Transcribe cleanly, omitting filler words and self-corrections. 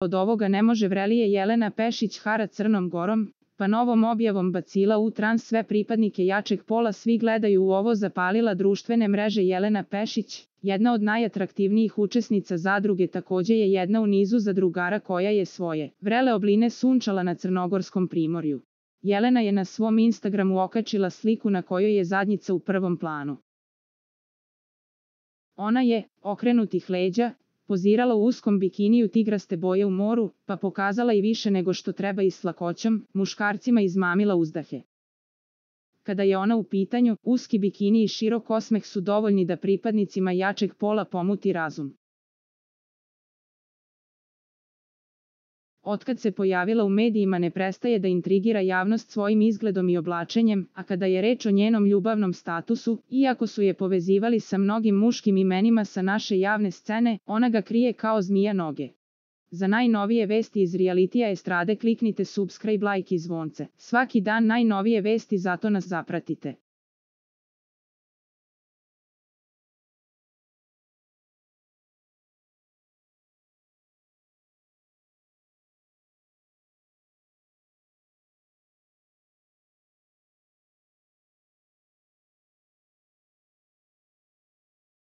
od ovoga ne može vrelije Jelena Pešić hara Crnom Gorom, pa novom objavom bacila u trans sve pripadnike jačeg pola. Svi gledaju u ovo, zapalila društvene mreže. Jelena Pešić, jedna od najatraktivnijih učesnica zadruge, takođe je jedna u nizu zadrugara koja je svoje vrele obline sunčala na crnogorskom primorju. Jelena je na svom Instagramu okačila sliku na kojoj je zadnjica u prvom planu. Ona je, okrenutih leđa, pozirala u uskom bikiniju tigraste boje u moru, pa pokazala i više nego što treba i s lakoćom, muškarcima izmamila uzdahe. Kada je ona u pitanju, uski bikini i širok osmeh su dovoljni da pripadnicima jačeg pola pomuti razum. Otkad se pojavila u medijima ne prestaje da intrigira javnost svojim izgledom i oblačenjem, a kada je reč o njenom ljubavnom statusu, iako su je povezivali sa mnogim muškim imenima sa naše javne scene, ona ga krije kao zmija noge. Za najnovije vesti iz realitija estrade kliknite subscribe, like i zvonce. Svaki dan najnovije vesti, zato nas zapratite.